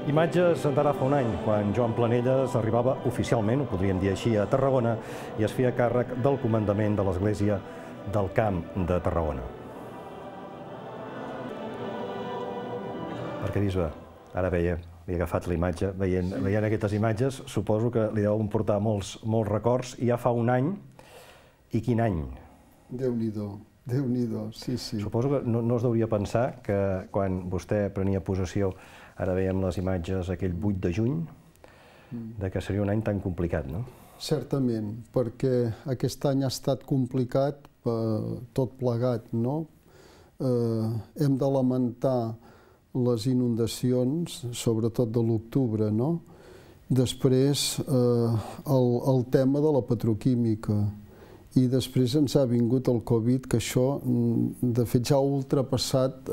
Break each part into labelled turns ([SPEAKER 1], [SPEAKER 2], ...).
[SPEAKER 1] Imatges d'ara fa un any, quan Joan Planelles arribava oficialment, ho podríem dir així, a Tarragona i es feia càrrec del comandament de l'Església del Camp de Tarragona. Perquè, bisbe, ara havia agafat la imatge, veient aquestes imatges, suposo que li deuen portar molts records, i ja fa un any, i quin any?
[SPEAKER 2] Déu-n'hi-do, Déu-n'hi-do, sí, sí.
[SPEAKER 1] Suposo que no es deuria pensar que quan vostè prenia possessió, ara veiem les imatges aquell 8 de juny, que seria un any tan complicat, no?
[SPEAKER 2] Certament, perquè aquest any ha estat complicat tot plegat, no? Hem de lamentar les inundacions, sobretot de l'octubre, no? Després, el tema de la petroquímica. I després ens ha vingut el Covid, que això, de fet, ja ha ultrapassat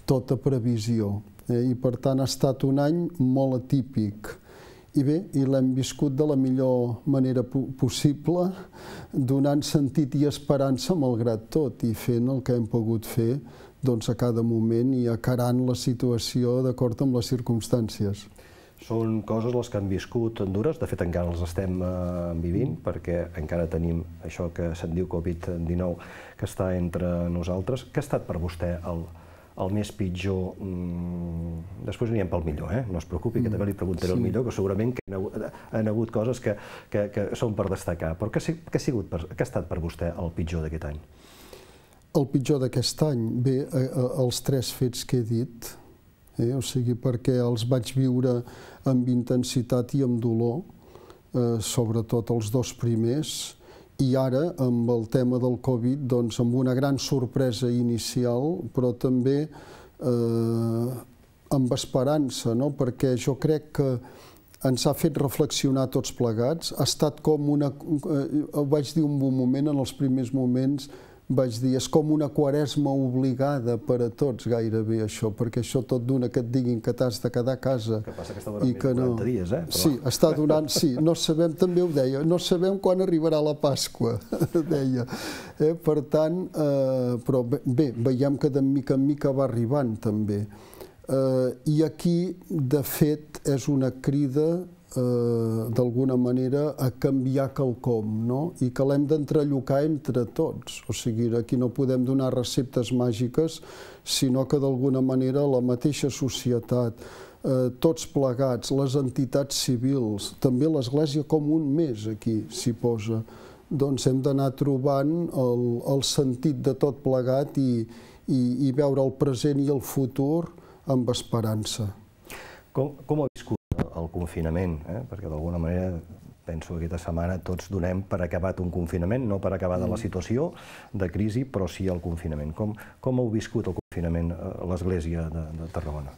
[SPEAKER 2] tota previsió. I, per tant, ha estat un any molt atípic. I bé, l'hem viscut de la millor manera possible, donant sentit i esperança malgrat tot, i fent el que hem pogut fer a cada moment i acarant la situació d'acord amb les circumstàncies.
[SPEAKER 1] Són coses les que han viscut dures, de fet encara les estem vivint, perquè encara tenim això que se'n diu Covid-19, que està entre nosaltres. Què ha estat per vostè el més pitjor? Després anirem pel millor, no es preocupi, que també li preguntaré el millor, que segurament que han hagut coses que són per destacar. Però què ha estat per vostè el pitjor d'aquest any?
[SPEAKER 2] El pitjor d'aquest any? Bé, els 3 fets que he dit, o sigui, perquè els vaig viure amb intensitat i amb dolor, sobretot els 2 primers, i ara, amb el tema del Covid, doncs amb una gran sorpresa inicial, però també amb esperança, no? Perquè jo crec que ens ha fet reflexionar tots plegats. Ha estat com una... Ho vaig dir un bon moment, en els primers moments, vaig dir, és com una quaresma obligada per a tots gairebé això, perquè això tot d'una que et diguin que t'has de quedar a casa.
[SPEAKER 1] Que passa que està durant més de 40 dies,
[SPEAKER 2] Sí, està donant, sí, no sabem, també ho deia, no sabem quan arribarà la Pasqua, deia. Per tant, però bé, veiem que de mica en mica va arribant també. I aquí, de fet, és una crida d'alguna manera a canviar quelcom, no? I que l'hem d'entrellocar entre tots. O sigui, aquí no podem donar receptes màgiques, sinó que d'alguna manera la mateixa societat, tots plegats, les entitats civils, també l'Església com un més aquí s'hi posa, doncs hem d'anar trobant el sentit de tot plegat i veure el present i el futur amb esperança.
[SPEAKER 1] Com ha viscut el confinament? Perquè d'alguna manera penso que aquesta setmana tots donem per acabat un confinament, no per acabada la situació de crisi, però sí el confinament. Com heu viscut el confinament a l'Església de Tarragona?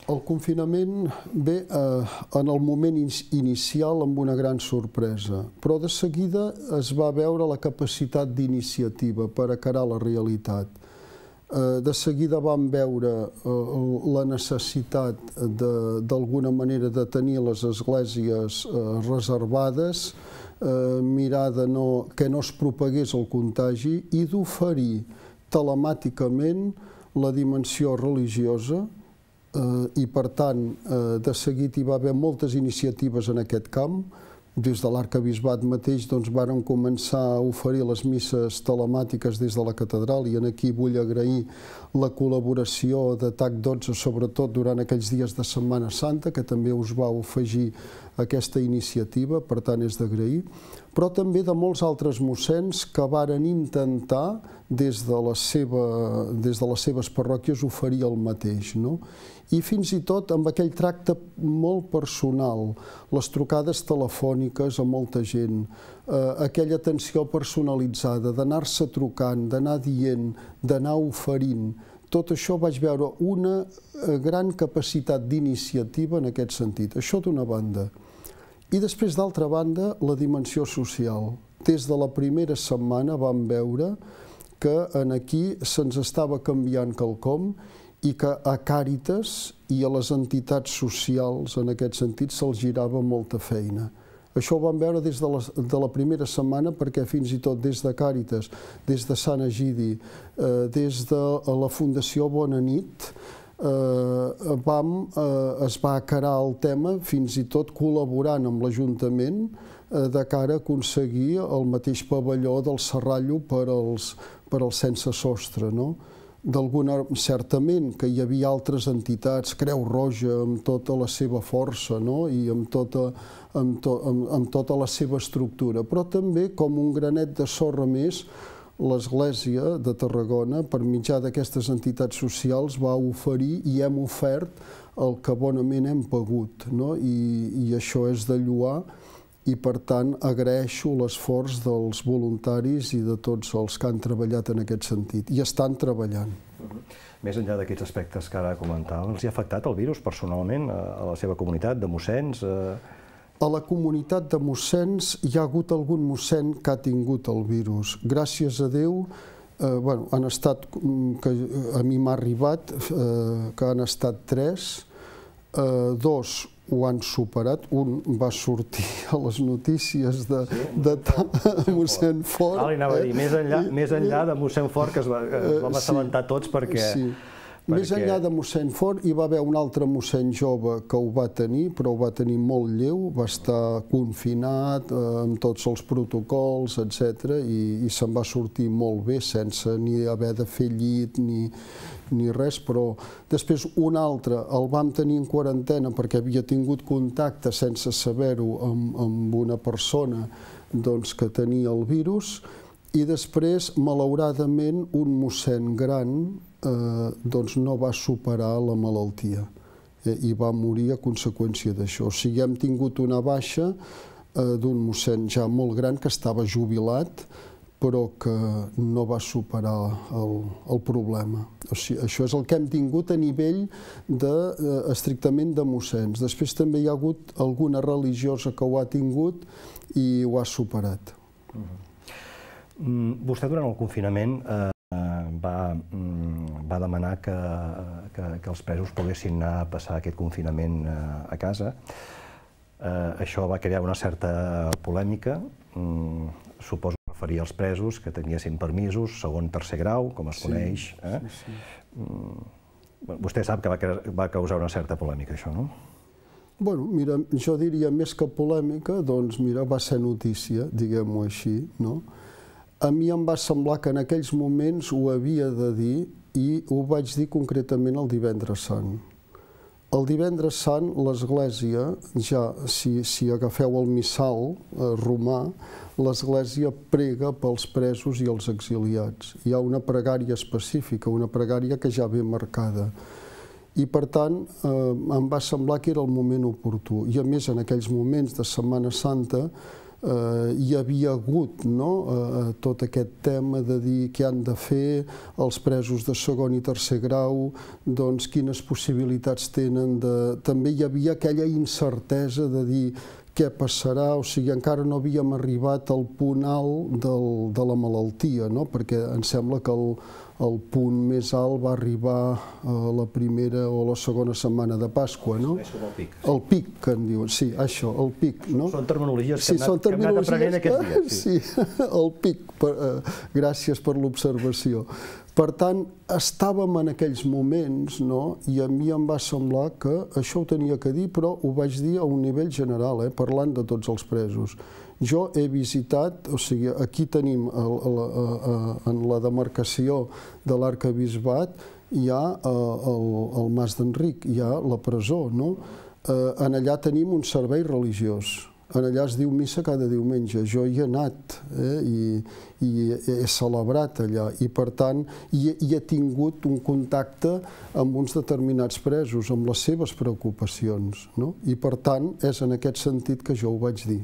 [SPEAKER 2] El confinament, bé, en el moment inicial amb una gran sorpresa, però de seguida es va veure la capacitat d'iniciativa per acarar la realitat. De seguida vam veure la necessitat d'alguna manera de tenir les esglésies reservades, mirar que no es propagués el contagi i d'oferir telemàticament la dimensió religiosa i, per tant, de seguit hi va haver moltes iniciatives en aquest camp. Des de l'arquebisbat mateix varen començar a oferir les misses telemàtiques des de la catedral i aquí vull agrair la col·laboració de TAC 12, sobretot durant aquells dies de Setmana Santa, que també us vau afegir aquesta iniciativa, per tant és d'agrair, però també de molts altres mossens que varen intentar des de les seves parròquies oferir el mateix, no? I fins i tot amb aquell tracte molt personal, les trucades telefòniques a molta gent, aquella atenció personalitzada, d'anar-se trucant, d'anar dient, d'anar oferint, tot això vaig veure una gran capacitat d'iniciativa en aquest sentit. Això d'una banda. I després, d'altra banda, la dimensió social. Des de la primera setmana vam veure que aquí se'ns estava canviant quelcom i que a Càritas i a les entitats socials, en aquest sentit, se'ls girava molta feina. Això ho vam veure des de la primera setmana perquè fins i tot des de Càritas, des de Sant Egidi, des de la Fundació Bona Nit, es va acarar el tema, fins i tot col·laborant amb l'Ajuntament de cara a aconseguir el mateix pavelló del Serrallo per als sense sostre, no? Certament que hi havia altres entitats, Creu Roja amb tota la seva força i amb tota la seva estructura, però també com un granet de sorra més l'Església de Tarragona, per mitjà d'aquestes entitats socials, va oferir i hem ofert el que bonament hem pogut, i això és de lloar. I, per tant, agraeixo l'esforç dels voluntaris i de tots els que han treballat en aquest sentit. I estan treballant.
[SPEAKER 1] Més enllà d'aquests aspectes que ara comentava, els ha afectat el virus personalment a la seva comunitat de mossens?
[SPEAKER 2] A la comunitat de mossens hi ha hagut algun mossèn que ha tingut el virus. Gràcies a Déu, han estat, a mi m'ha arribat, que han estat 3, 2 ho han superat, un va sortir a les notícies de mossèn Fort.
[SPEAKER 1] Ara li anava a dir, més enllà de mossèn Fort, que es vam assabentar tots perquè...
[SPEAKER 2] Més enllà de mossèn Fort, hi va haver un altre mossèn jove que ho va tenir, però ho va tenir molt lleu, va estar confinat amb tots els protocols, etc. i se'n va sortir molt bé, sense ni haver de fer llit ni res, però després un altre el vam tenir en quarantena perquè havia tingut contacte sense saber-ho amb una persona que tenia el virus, i després, malauradament, un mossèn gran no va superar la malaltia i va morir a conseqüència d'això. O sigui, hem tingut una baixa d'un mossèn ja molt gran que estava jubilat, però que no va superar el problema. O sigui, això és el que hem tingut a nivell estrictament de mossens. Després també hi ha hagut alguna religiosa que ho ha tingut i ho ha superat.
[SPEAKER 1] Vostè durant el confinament va demanar que els presos poguessin anar a passar aquest confinament a casa. Això va crear una certa polèmica. Suposo que referia als presos que tinguessin permisos, segon, tercer grau, com es coneix. Vostè sap que va causar una certa polèmica, això, no?
[SPEAKER 2] Bueno, mira, jo diria més que polèmica, doncs mira, va ser notícia, diguem-ho així, no? A mi em va semblar que en aquells moments ho havia de dir i ho vaig dir concretament el divendres sant. El divendres sant l'Església, ja si agafeu el missal romà, l'Església prega pels presos i els exiliats. Hi ha una pregària específica, una pregària que ja ve marcada. I per tant em va semblar que era el moment oportú. I a més en aquells moments de Setmana Santa hi havia hagut tot aquest tema de dir què han de fer els presos de segon i tercer grau, doncs quines possibilitats tenen de... També hi havia aquella incertesa de dir què passarà, o sigui, encara no havíem arribat al punt alt de la malaltia, perquè em sembla que el punt més alt va arribar a la primera o la segona setmana de Pasqua, no?
[SPEAKER 1] És com el pic.
[SPEAKER 2] El pic, que en diuen, sí, això, el pic, no?
[SPEAKER 1] Són terminologies que hem anat aprenent aquests dies.
[SPEAKER 2] Sí, el pic, gràcies per l'observació. Per tant, estàvem en aquells moments, i a mi em va semblar que això ho tenia que dir, però ho vaig dir a un nivell general, parlant de tots els presos. Jo he visitat, o sigui, aquí tenim, en la demarcació de l'Arquebisbat, hi ha el Mas d'Enric, hi ha la presó, no? En allà tenim un servei religiós. En allà es diu missa cada diumenge. Jo hi he anat i he celebrat allà i, per tant, hi he tingut un contacte amb uns determinats presos, amb les seves preocupacions. I, per tant, és en aquest sentit que jo ho vaig dir.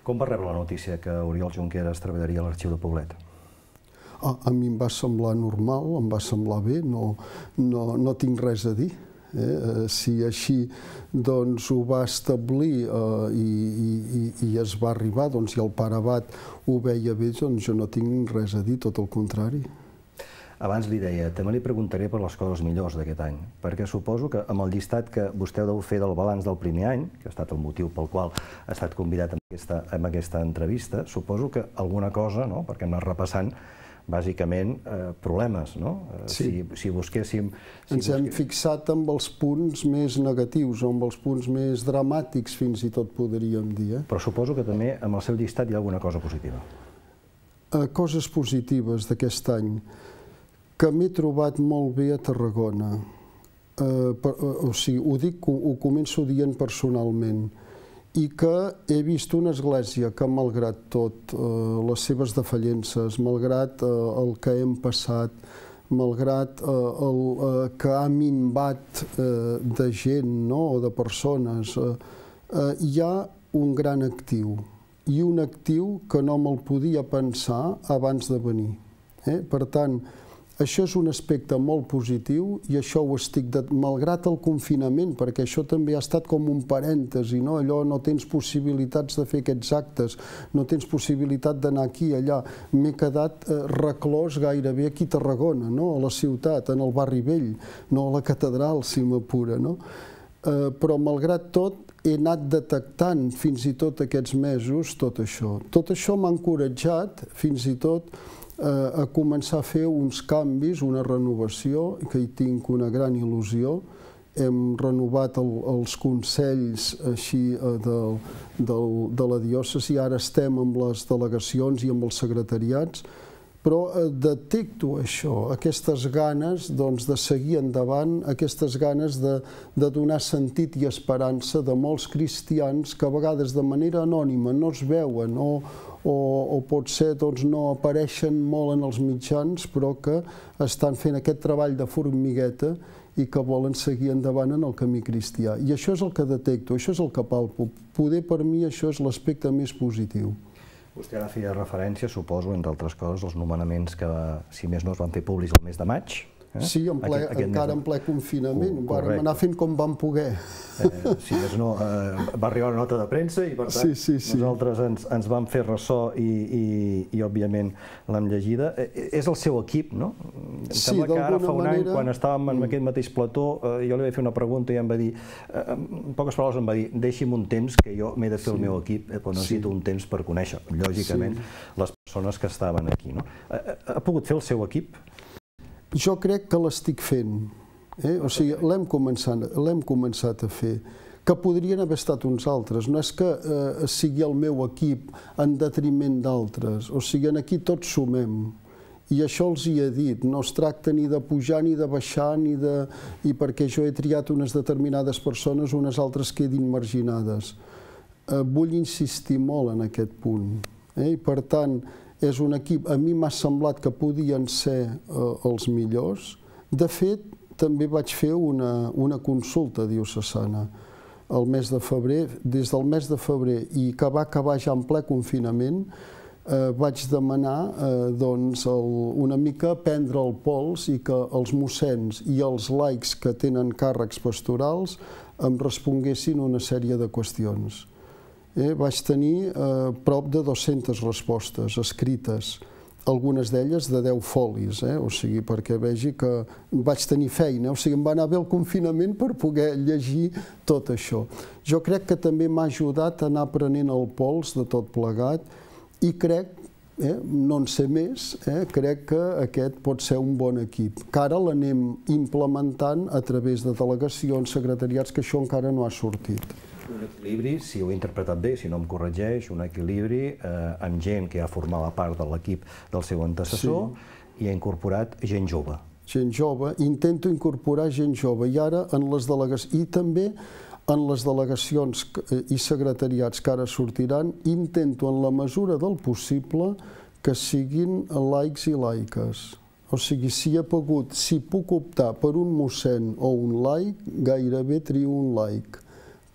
[SPEAKER 1] Com va rebre la notícia que Oriol Junqueras treballaria a l'Arxiu de Poblet?
[SPEAKER 2] A mi em va semblar normal, em va semblar bé, no tinc res a dir. Si així ho va establir i es va arribar, i el pare abat ho veia bé, doncs jo no tinc res a dir, tot el contrari.
[SPEAKER 1] Abans li deia, també li preguntaré per les coses millors d'aquest any, perquè suposo que amb el llistat que vostè deu fer del balanç del primer any, que ha estat el motiu pel qual ha estat convidat en aquesta entrevista, suposo que alguna cosa, perquè hem anat repassant, bàsicament, problemes, no? Si busquéssim...
[SPEAKER 2] Ens hem fixat amb els punts més negatius, o amb els punts més dramàtics, fins i tot podríem dir.
[SPEAKER 1] Però suposo que també amb el seu llistat hi ha alguna cosa positiva.
[SPEAKER 2] Coses positives d'aquest any, que m'he trobat molt bé a Tarragona. O sigui, ho dic, ho començo dient personalment, i que he vist una església que, malgrat tot, les seves defallences, malgrat el que hem passat, malgrat que ha minvat de gent o de persones, hi ha un gran actiu, i un actiu que no me'l podia pensar abans de venir. Per tant, això és un aspecte molt positiu i això ho estic, malgrat el confinament, perquè això també ha estat com un parèntesi, no? Allò no tens possibilitats de fer aquests actes, no tens possibilitat d'anar aquí, allà. M'he quedat reclòs gairebé aquí a Tarragona, no? A la ciutat, en el barri vell, no a la catedral, si m'apura, no? Però malgrat tot he anat detectant fins i tot aquests mesos tot això. Tot això m'ha encoratjat fins i tot a començar a fer uns canvis, una renovació, que hi tinc una gran il·lusió. Hem renovat els consells així de la diòcesi, ara estem amb les delegacions i amb els secretariats, però detecto això, aquestes ganes de seguir endavant, aquestes ganes de donar sentit i esperança de molts cristians que a vegades de manera anònima no es veuen o potser no apareixen molt en els mitjans, però que estan fent aquest treball de formigueta i que volen seguir endavant en el camí cristià. I això és el que detecto, això és el que palpo. Poder per mi això és l'aspecte més positiu.
[SPEAKER 1] Vostè ara feia referència, suposo, entre altres coses, als nomenaments que, si més no, es van fer públics el mes de maig.
[SPEAKER 2] Sí, encara en ple confinament, vam anar fent com vam poder.
[SPEAKER 1] Si més no, va arribar una nota de premsa i, per tant, nosaltres ens vam fer ressò i òbviament, l'hem llegida. És el seu equip, no? Em sembla que ara fa un any, quan estàvem en aquest mateix plató, jo li vaig fer una pregunta i em va dir, en poques paraules em va dir, deixi'm un temps que jo m'he de fer el meu equip, però necessito un temps per conèixer, lògicament, les persones que estaven aquí. Ha pogut fer el seu equip?
[SPEAKER 2] Jo crec que l'estic fent, o sigui, l'hem començat a fer, que podrien haver estat uns altres, no és que sigui el meu equip en detriment d'altres, o sigui, aquí tots sumem, i això els hi he dit, no es tracta ni de pujar ni de baixar, i perquè jo he triat unes determinades persones, unes altres quedin marginades. Vull insistir molt en aquest punt, i per tant, és un equip, a mi m'ha semblat que podien ser els millors. De fet, també vaig fer una consulta diocesana el mes de febrer. Des del mes de febrer i que va acabar ja en ple confinament, vaig demanar una mica prendre el pols i que els mossens i els laics que tenen càrrecs pastorals em responguessin una sèrie de qüestions. Vaig tenir prop de 200 respostes escrites, algunes d'elles de 10 folis, o sigui, perquè vegi que vaig tenir feina, o sigui, em va anar bé el confinament per poder llegir tot això. Jo crec que també m'ha ajudat a anar prenent el pols de tot plegat i crec, no en sé més, crec que aquest pot ser un bon equip, que ara l'anem implementant a través de delegacions, secretariats, que això encara no ha sortit.
[SPEAKER 1] Un equilibri, si ho he interpretat bé, si no em corregeix, un equilibri amb gent que ja formava part de l'equip del seu antecessor i ha incorporat gent jove.
[SPEAKER 2] Gent jove, intento incorporar gent jove i ara en les delegacions, i també en les delegacions i secretariats que ara sortiran, intento en la mesura del possible que siguin laics i laiques. O sigui, si puc optar per un mossèn o un laic, gairebé trio un laic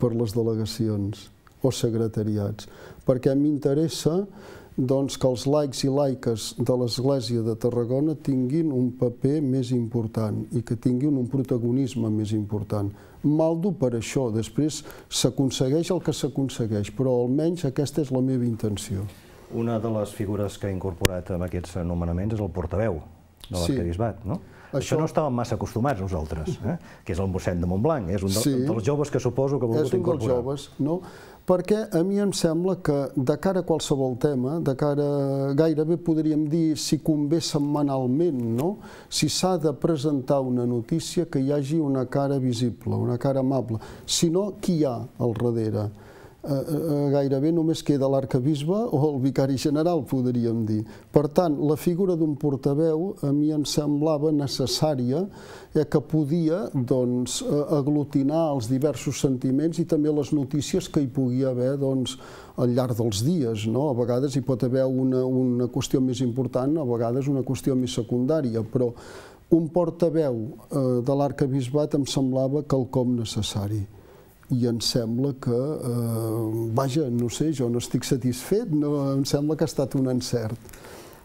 [SPEAKER 2] per les delegacions o secretariats, perquè m'interessa que els laics i laiques de l'Església de Tarragona tinguin un paper més important i que tinguin un protagonisme més important. Maldo per això, després s'aconsegueix el que s'aconsegueix, però almenys aquesta és la meva intenció.
[SPEAKER 1] Una de les figures que ha incorporat en aquests nomenaments és el portaveu de l'arquebisbat, no? Això no estàvem massa acostumats nosaltres, que és el mossèn de Montblanc, és un dels joves que suposo que ha volgut incorporar.
[SPEAKER 2] És un dels joves, no? Perquè a mi em sembla que de cara a qualsevol tema, de cara gairebé podríem dir si convé setmanalment, no? Si s'ha de presentar una notícia que hi hagi una cara visible, una cara amable. Si no, qui hi ha al darrere? Gairebé només queda l'arquebisbe o el vicari general, podríem dir. Per tant, la figura d'un portaveu a mi em semblava necessària, que podia aglutinar els diversos sentiments i també les notícies que hi pugui haver al llarg dels dies. A vegades hi pot haver una qüestió més important, a vegades una qüestió més secundària, però un portaveu de l'arquebisbat em semblava quelcom necessari. I em sembla que, vaja, no sé, jo no estic satisfet, em sembla que ha estat un encert.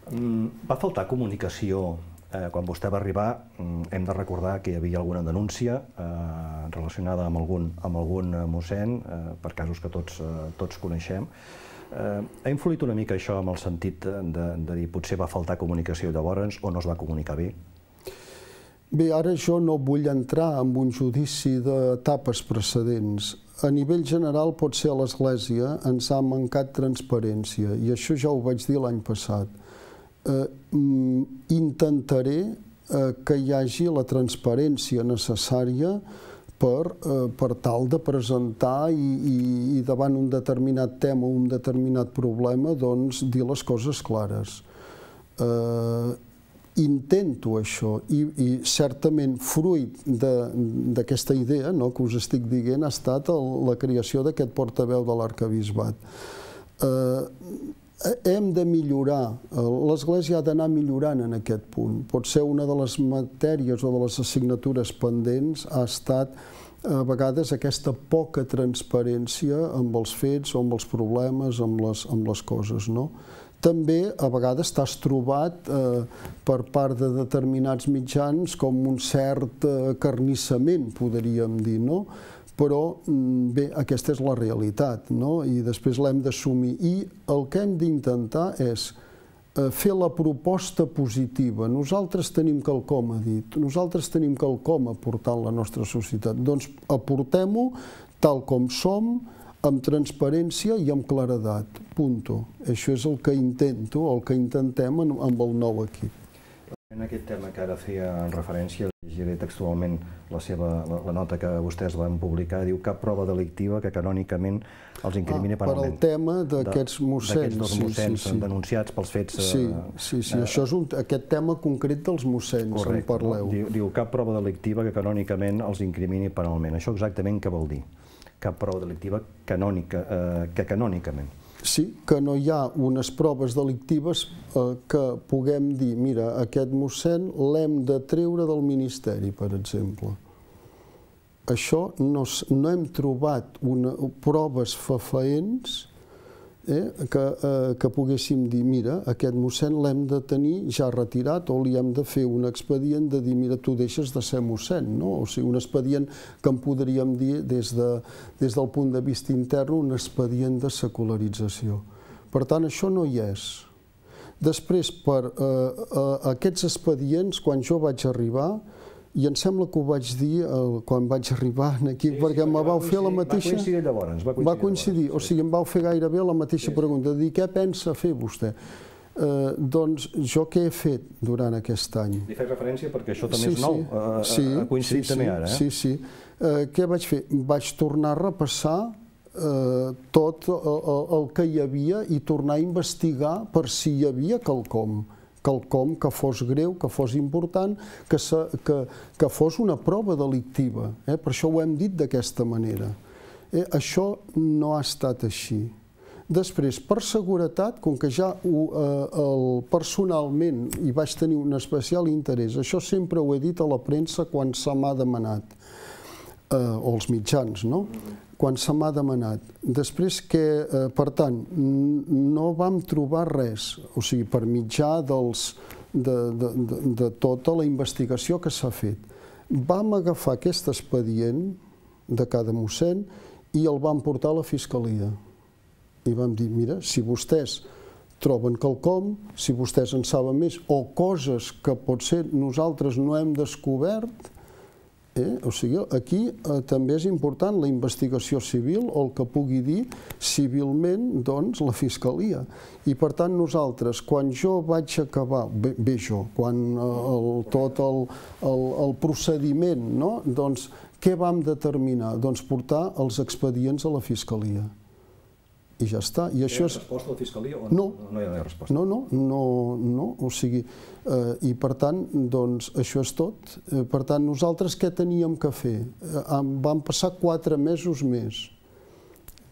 [SPEAKER 1] Va faltar comunicació. Quan vostè va arribar, hem de recordar que hi havia alguna denúncia relacionada amb algun mossèn, per casos que tots coneixem. Ha influït una mica això amb el sentit de dir potser va faltar comunicació llavors o no es va comunicar bé?
[SPEAKER 2] Bé, ara jo no vull entrar en un judici d'etapes precedents. A nivell general, potser a l'Església ens ha mancat transparència, i això ja ho vaig dir l'any passat. Intentaré que hi hagi la transparència necessària per tal de presentar i davant un determinat tema o un determinat problema, dir les coses clares. Intento això i certament fruit d'aquesta idea que us estic dient ha estat la creació d'aquest portaveu de l'arquebisbat. Hem de millorar, l'Església ha d'anar millorant en aquest punt. Potser una de les matèries o de les assignatures pendents ha estat a vegades aquesta poca transparència amb els fets o amb els problemes, amb les coses, no? També a vegades t'has trobat per part de determinats mitjans com un cert acarnissament, podríem dir, no? Però bé, aquesta és la realitat, no? I després l'hem d'assumir. I el que hem d'intentar és fer la proposta positiva. Nosaltres tenim quelcom a dir, nosaltres tenim quelcom a aportar a la nostra societat. Doncs aportem-ho tal com som, amb transparència i amb claredat. Punto. Això és el que intento, el que intentem amb el nou equip.
[SPEAKER 1] En aquest tema que ara feia referència, llegiré textualment la nota que vostès van publicar, diu cap prova delictiva que canònicament els incrimini penalment.
[SPEAKER 2] Per al tema d'aquests mossens.
[SPEAKER 1] D'aquests dos mossens denunciats pels fets...
[SPEAKER 2] Sí, això és aquest tema concret dels mossens, en parleu.
[SPEAKER 1] Diu cap prova delictiva que canònicament els incrimini penalment. Això exactament què vol dir? Cap prova delictiva que canònicament.
[SPEAKER 2] Sí, que no hi ha unes proves delictives que puguem dir, mira, aquest mossèn l'hem de treure del ministeri, per exemple. Això no hem trobat proves fefaents que poguéssim dir, mira, aquest mossèn l'hem de tenir ja retirat o li hem de fer un expedient de dir, mira, tu deixes de ser mossèn, no? O sigui, un expedient que en podríem dir des del punt de vista intern, un expedient de secularització. Per tant, això no hi és. Després, per aquests expedients, quan jo vaig arribar, i em sembla que ho vaig dir quan vaig arribar aquí, perquè me vau fer la mateixa...
[SPEAKER 1] Va coincidir llavors.
[SPEAKER 2] Va coincidir, o sigui, em vau fer gairebé la mateixa pregunta, de dir, què pensa fer vostè? Doncs jo què he fet durant aquest any?
[SPEAKER 1] Li faig referència perquè això també és nou, ha coincidit també ara.
[SPEAKER 2] Sí. Què vaig fer? Vaig tornar a repassar tot el que hi havia i tornar a investigar per si hi havia quelcom que fos greu, que fos important, que fos una prova delictiva. Per això ho hem dit d'aquesta manera. Això no ha estat així. Després, per seguretat, com que ja personalment hi vaig tenir un especial interès, això sempre ho he dit a la premsa quan se m'ha demanat, o als mitjans, no? Quan se m'ha demanat. Després que, per tant, no vam trobar res, o sigui, per mitjà de tota la investigació que s'ha fet. Vam agafar aquest expedient de cada mossèn i el vam portar a la Fiscalia. I vam dir, mira, si vostès troben quelcom, si vostès en saben més, o coses que potser nosaltres no hem descobert. O sigui, aquí també és important la investigació civil o el que pugui dir civilment doncs, la Fiscalia. I per tant nosaltres, quan jo vaig acabar, quan tot el procediment, doncs què vam determinar? Doncs portar els expedients a la Fiscalia. I ja està.
[SPEAKER 1] Hi ha resposta a la Fiscalia o no? No hi ha resposta?
[SPEAKER 2] No. O sigui, i per tant, doncs, això és tot. Per tant, nosaltres què teníem que fer? Van passar 4 mesos més.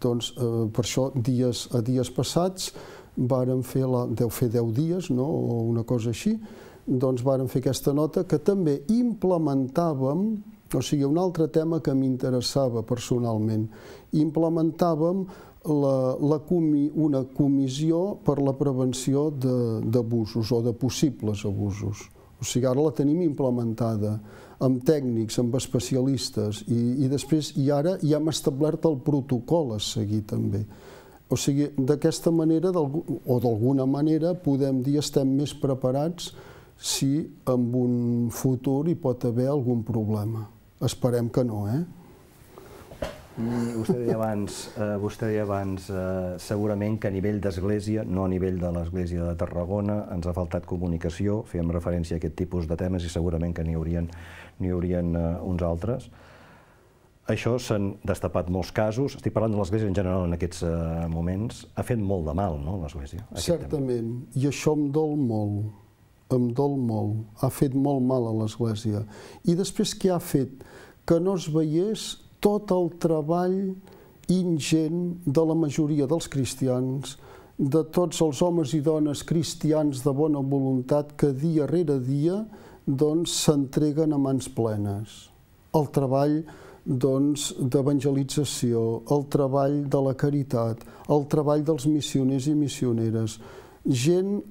[SPEAKER 2] Doncs, per això, a dies passats, vàrem fer, deu fer 10 dies, o una cosa així, doncs vàrem fer aquesta nota que també implementàvem, o sigui, un altre tema que m'interessava personalment, implementàvem una comissió per la prevenció d'abusos o de possibles abusos. O sigui, ara la tenim implementada amb tècnics, amb especialistes i ara ja hem establert el protocol a seguir també. O sigui, d'aquesta manera o d'alguna manera podem dir estem més preparats si en un futur hi pot haver algun problema. Esperem que no,
[SPEAKER 1] Vostè deia abans, segurament que a nivell d'església, no a nivell de l'església de Tarragona, ens ha faltat comunicació, fèiem referència a aquest tipus de temes i segurament que n'hi haurien uns altres. Això s'han destapat molts casos, estic parlant de l'església en general en aquests moments, ha fet molt de mal, no, l'església?
[SPEAKER 2] Certament, i això em dol molt, ha fet molt mal a l'església. I després què ha fet? Que no es veiés tot el treball ingent de la majoria dels cristians, de tots els homes i dones cristians de bona voluntat que dia rere dia s'entreguen a mans plenes. El treball d'evangelització, el treball de la caritat, el treball dels missioners i missioneres, gent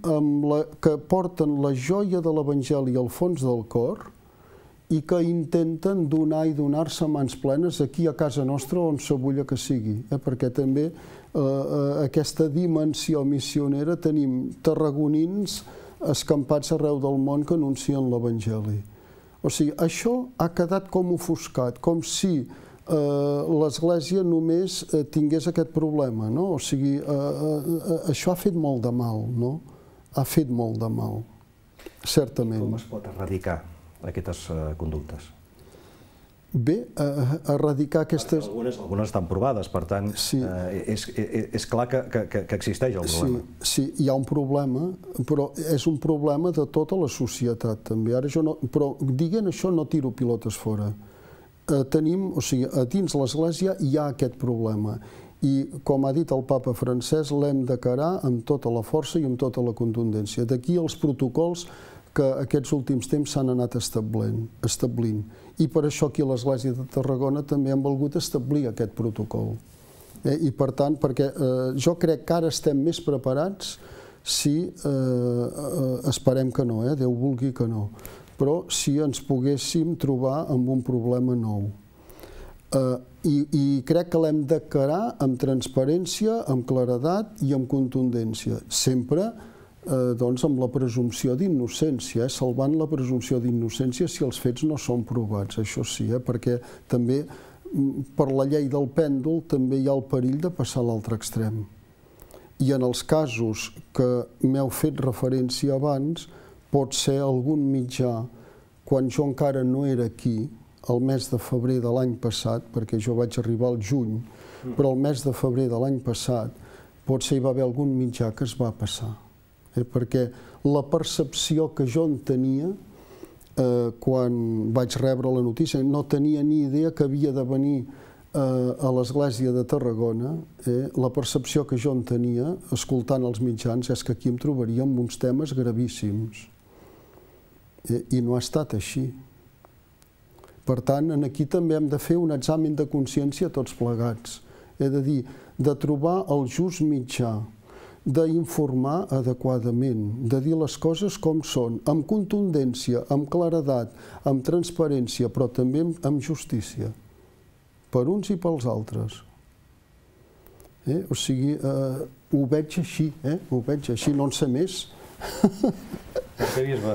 [SPEAKER 2] que porten la joia de l'Evangeli al fons del cor i que intenten donar i donar-se a mans plenes aquí a casa nostra on s'abulla que sigui, perquè també aquesta dimensió missionera tenim tarragonins escampats arreu del món que anuncien l'Evangeli. O sigui, això ha quedat com ofuscat, com si l'Església només tingués aquest problema, no? O sigui, això ha fet molt de mal, no? Ha fet molt de mal, certament.
[SPEAKER 1] Com es pot erradicar aquestes conductes?
[SPEAKER 2] Bé, erradicar aquestes...
[SPEAKER 1] Algunes estan provades, per tant, és clar que existeix el problema.
[SPEAKER 2] Sí, hi ha un problema, però és un problema de tota la societat, també. Però dient això no tiro pilotes fora. O sigui, a dins l'Església hi ha aquest problema. I, com ha dit el papa francès, l'hem d'encarar amb tota la força i amb tota la contundència. D'aquí els protocols que aquests últims temps s'han anat establint. I per això aquí a l'Església de Tarragona també hem volgut establir aquest protocol. I per tant, perquè jo crec que ara estem més preparats si, esperem que no, Déu vulgui que no, però si ens poguéssim trobar amb un problema nou. I crec que l'hem d'encarar amb transparència, amb claredat i amb contundència. Sempre amb la presumpció d'innocència, salvant la presumpció d'innocència si els fets no són provats, això sí, perquè també per la llei del pèndol també hi ha el perill de passar a l'altre extrem. I en els casos que m'heu fet referència abans, pot ser algun mitjà, quan jo encara no era aquí, el mes de febrer de l'any passat, perquè jo vaig arribar al juny, però el mes de febrer de l'any passat, potser hi va haver algun mitjà que es va passar. Perquè la percepció que jo en tenia quan vaig rebre la notícia, no tenia ni idea que havia de venir a l'Església de Tarragona, la percepció que jo en tenia, escoltant els mitjans, és que aquí em trobaria amb uns temes gravíssims. I no ha estat així. Per tant, aquí també hem de fer un examen de consciència tots plegats. És a dir, de trobar el just mitjà, d'informar adequadament, de dir les coses com són, amb contundència, amb claredat, amb transparència, però també amb justícia, per uns i pels altres. O sigui, ho veig així, no en sé més.
[SPEAKER 1] Arquebisbe,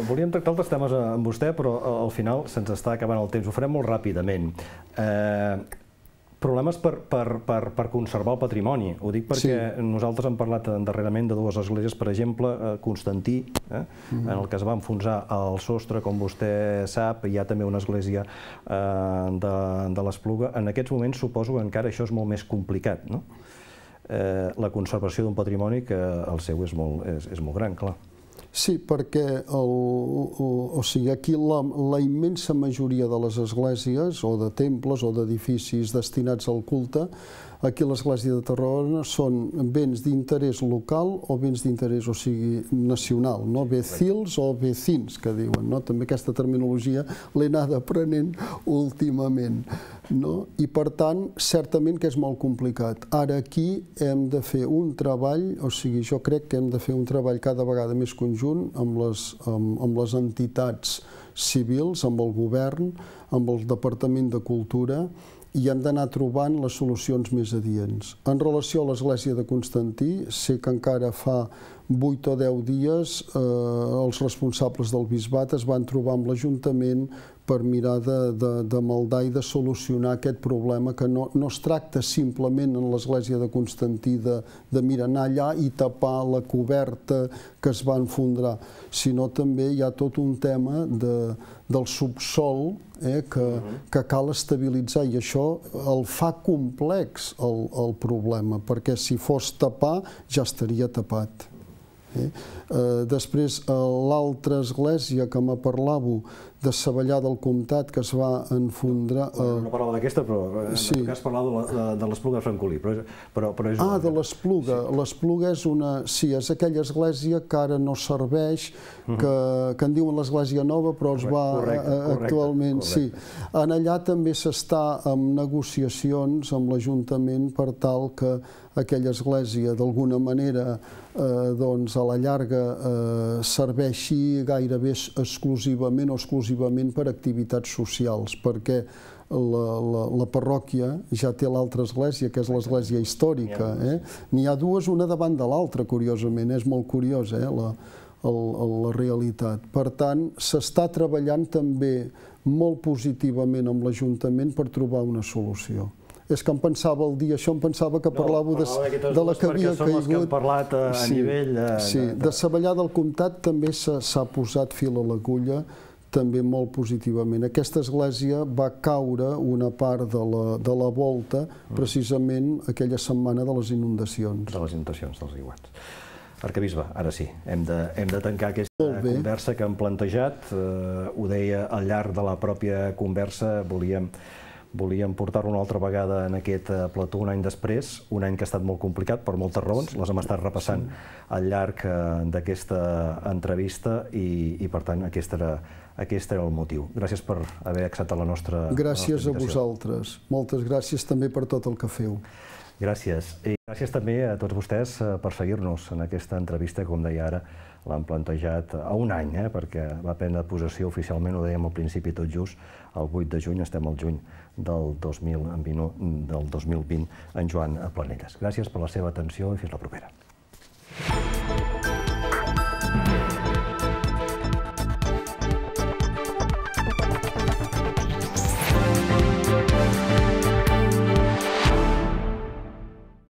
[SPEAKER 1] volíem tractar altres temes amb vostè, però al final se'ns està acabant el temps. Ho farem molt ràpidament. Problemes per conservar el patrimoni. Ho dic perquè nosaltres hem parlat darrerament de dues esglésies, per exemple, Constantí, en el que es va enfonsar el sostre, com vostè sap, hi ha també una església de l'Espluga. En aquests moments suposo que encara això és molt més complicat, no? La conservació d'un patrimoni que el seu és molt gran, clar.
[SPEAKER 2] Sí, perquè aquí la immensa majoria de les esglésies o de temples o d'edificis destinats al culte, aquí a l'església de Tarragona són béns d'interès local o béns d'interès, o sigui, nacional, no? Becils o vecins, que diuen, no? També aquesta terminologia l'he anat aprenent últimament, no? I per tant, certament que és molt complicat. Ara aquí hem de fer un treball, o sigui, jo crec que hem de fer un treball cada vegada més conjunt amb les entitats civils, amb el govern, amb el Departament de Cultura, i hem d'anar trobant les solucions més adients. En relació a l'església de Constantí, sé que encara fa 8 o 10 dies els responsables del bisbat es van trobar amb l'Ajuntament per mirar de maldar i de solucionar aquest problema, que no es tracta simplement en l'església de Constantí de mirar anar allà i tapar la coberta que es va enfondrar, sinó també hi ha tot un tema del subsol que cal estabilitzar, i això el fa complex el problema, perquè si fos tapar ja estaria tapat. Després, l'altra església que me parlàveu, de Savallà del Comtat, que es va enfondrar...
[SPEAKER 1] No parlava d'aquesta, però en tot cas parlava de l'Espluga de Francolí.
[SPEAKER 2] Ah, de l'Espluga. L'Espluga és una... Sí, és aquella església que ara no serveix, que en diuen l'església nova, però es va actualment... Sí. En allà també s'està en negociacions amb l'Ajuntament per tal que aquella església d'alguna manera doncs a la llarga serveixi gairebé exclusivament o exclusivament per activitats socials, perquè la parròquia ja té l'altra església, que és l'església històrica. N'hi ha dues, una davant de l'altra, curiosament. És molt curiosa la realitat. Per tant, s'està treballant també molt positivament amb l'Ajuntament per trobar una solució. És que em pensava el dia, això em pensava que parlàveu de la que havia caigut.
[SPEAKER 1] Perquè són les que hem parlat a nivell...
[SPEAKER 2] Sí, de Savallà del Comtat també s'ha posat fil a l'agulla, també molt positivament. Aquesta església va caure una part de la volta precisament aquella setmana de les inundacions.
[SPEAKER 1] De les inundacions, dels aiguats. Arquebisbe, ara sí, hem de tancar aquesta conversa que hem plantejat. Ho deia al llarg de la pròpia conversa, volíem portar-lo una altra vegada en aquest plató un any després, un any que ha estat molt complicat per moltes raons, les hem estat repassant al llarg d'aquesta entrevista i per tant aquest era el motiu. Gràcies per haver acceptat la nostra invitació.
[SPEAKER 2] Gràcies a vosaltres. Moltes gràcies també per tot el que feu.
[SPEAKER 1] Gràcies. I gràcies també a tots vostès per seguir-nos en aquesta entrevista, com deia ara, l'han plantejat a un any, perquè va prendre possessió oficialment, ho dèiem al principi tot just, el 8 de juny, estem al juny del 2020, en Joan Planelles. Gràcies per la seva atenció i fins la propera.